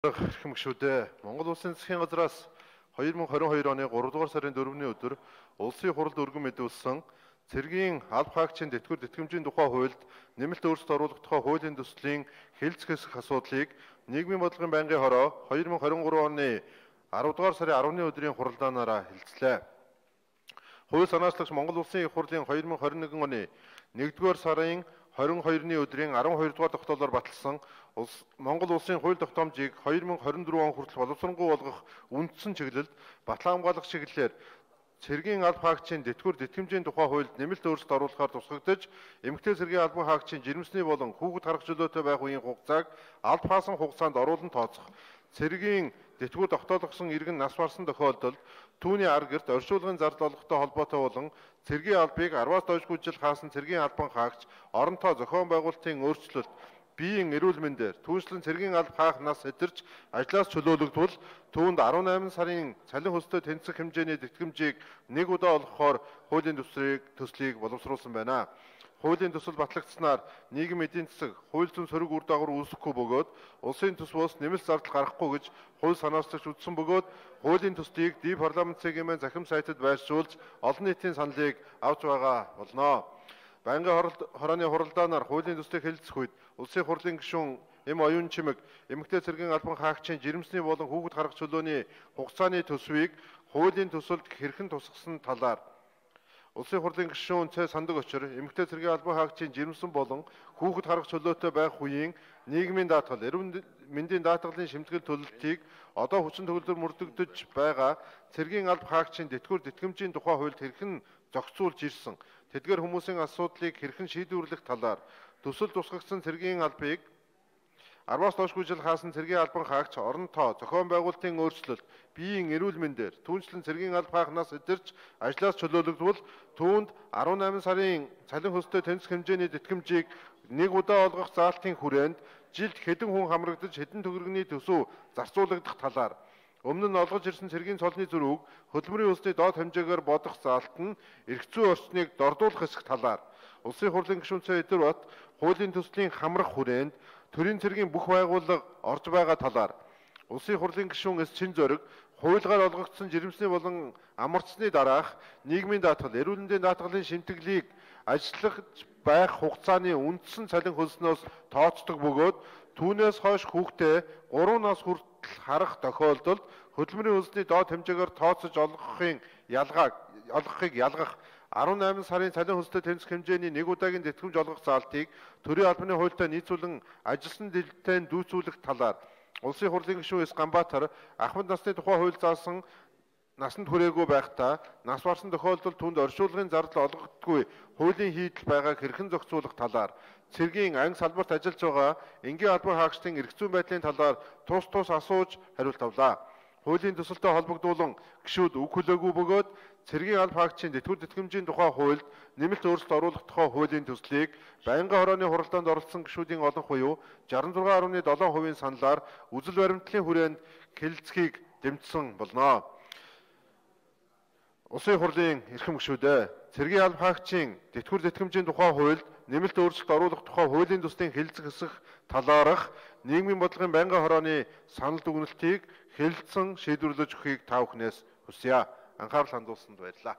Хэрхэм гишүүдээ Монгол Улсын засгийн газраас 2022 оны 3 дугаар сарын 4-ний өдөр улсын хурлд өргөн мэдүүлсэн цэргийн алба хаагчийн тэтгэвэр тэтгэмжийн тухай хуульд нэмэлт өөрчлөлт оруулах тухай хуулийн төслийн хэлэлцэх хэсэг асуудлыг нийгмийн бодлогын байнгын хороо 2023 оны 10 дугаар сарын 10-ны өдрийн хуралдаанаараа хэлэлцлээ. Хууль санаачлагч Монгол Улсын их хурлын 2021 оны 1-р сарын 22-ны өдрийн 12-р тогтоолоор баталсан Монгол Улсын хууль тогтоомжийг 2024 он хүртэл боловсронгуй болгох үндсэн чиглэлд батлан хамгаалах чиглэлээр цэргийн алба хаагчийн тэтгэвэр тэтгэмжийн тухай хуульд нэмэлт өөрчлөлт оруулахаар тусгагдаж, эмэгтэй цэргийн албан хаагчийн жирэмсний болон хүүхэд харах чөлөөтэй байх үеийн хугацааг алба хаасан хугацаанд оруулан тооцох. Цэргийн тэтгэвэр тогтоолгосон иргэн нас барсан тохиолдолд түүний ар гэрт оршуулгын зардал олгохтой холбоотой болон цэргийн албыг 10-аас доошгүй жил хаасан цэргийн албан хаагч оронтой зохион байгуулалтын өөрчлөлт биеийн эрүүл мэндээр түүнчлэн цэргийн алба хаах нас сэтэрч ажлаас чөлөөлөгдвөл түүнд 18 сарын цалин хөстэй тэнцэх хэмжээний тэтгэмжийг нэг удаа олгохоор хуулийн төслийг боловсруулсан байна. Хуулийн төсөл батлагдсанаар нийгэм эдийн засаг, хууль зүйн сөрөг үр дагавар үүсэхгүй бөгөөд улсын төс бус нэмэлт зардал гарахгүй гэж хууль санаачлагч үзсэн бөгөөд хуулийн төслийг ди парламент цэгийн захим сайтад байршуулж олон нийтийн саналыг авч байгаа болно. Байнгын хорооны хуралдаанаар хуулийн төслийг хэлэлцэх үед улсын хурлын гишүүн Эм оюун чимэг эмэгтэй цэргийн албан хаагчийн жирэмсний болон хүүхэд харах чөлөөний хугацааны төсвийг хуулийн төсөлд хэрхэн тусгасан талаар улсын хурлын гишүүн Цэ Сандаг очир эмэгтэй цэргийн албан хаагчийн жирэмсэн болон хүүхэд харах чөлөөтэй байх үеийн нийгмийн даатгал, эрүүл мэндийн даатгалын шимтгэл төлөлтийг одоо хүчин төгөлдөр мөрдөгдөж байгаа цэргийн алба хаагчийн тэтгэвэр тэтгэмжийн тухай хуульд хэрхэн зохицуулж ирсэн, тэдгээр хүмүүсийн асуудлыг хэрхэн шийдвэрлэх талаар төсөл тусгагдсан цэргийн албыг 10-аас доошгүй жил хаасан цэргийн албан хаагч оронтой зохион байгуулалтын өөрчлөлт биеийн эрүүл мэндээр түүнчлэн цэргийн алба хаах нас сэтэрч ажлаас чөлөөлөгдвөл түүнд 18 сарын цалин хөстэй тэнцэх хэмжээний тэтгэмжийг нэг удаа олгох заалтын хүрээнд жилд хэдэн хүн хамрагдаж хэдэн төгрөгийн төсөв зарцуулагдах талаар өмнө нь олгож ирсэн цэргийн цолны зөрүүг хөдөлмөрийн үлсний доод хэмжээгээр бодох заалт нь эрх зүйн орчныг дордуулах хэсэг талаар улсын хурлын гишүүн Цэ Эдварбат хуулийн төслийн хамрах хүрээнд төрийн цэргийн бүх байгууллага орж байгаа талаар улсын хурлын гишүүн Эс Чин Зориг хуулигаар олгогдсон жирэмсний болон амарцсны дараах нийгмийн даатгал, эрүүл мэндийн даатгалын шимтгэлийг ажиллах байх хугацааны үндсэн цалин хөлснөөс тооцдог бөгөөд түүнээс хойш хүүхдээ 3 нас хүртэл харах тохиолдолд хөдөлмөрийн хөлсний доод хэмжээгээр тооцож олгохыг ялгах 18 сарын цалин хөстэй тэнцэх хэмжээний нэг удаагийн тэтгэмж олгох заалтыг төрийн албаны хуультай нийцүүлэн ажилсан дэлгэцтэй дүүцүүлэх талаар улсын хурлын гишүүн Эс Ганбаатар ахмад насны тухай хууль заасан насанд хүрээгүй байхдаа нас барсан тохиолдолд түүнд оршуулгын зардал олгогдгүй хуулийн хийдэл байгааг хэрхэн зохицуулах талаар цэргийн анги салбарт ажиллаж байгаа энгийн албан хаагчдын эрх зүйн байдлын талаар тус асууж хариулт авлаа. Хуулийн төсөлтөд холбогдуулан гишүүд үг хүлээгүй бөгөөд цэргийн алба хаагчийн тэтгэвэр тэтгэмжийн тухай хуульд нэмэлт өөрчлөлт оруулах тухай хуулийн төслийг байнгын хорооны хуралдаанд оролцсон гишүүдийн олон буюу 66.7% саналаар үзэл баримтлалын хүрээнд хэлэлцэхийг дэмжсэн болно. Улсын хурлын эрхэм гишүүдээ цэргийн алба хаагчийн тэтгэвэр тэтгэмжийн тухай хуульд нэмэлт өөрчлөлт оруулах тухай хуулийн төслийн хэлэлцэх хэсэг талаарх нийгмийн бодлогын байнгын хорооны санал дүгнэлтийг хэлэлцэн шийдвэрлэж өгөхийг та бүхнээс хүсье. Анхаарал хандуулсанд баярлалаа.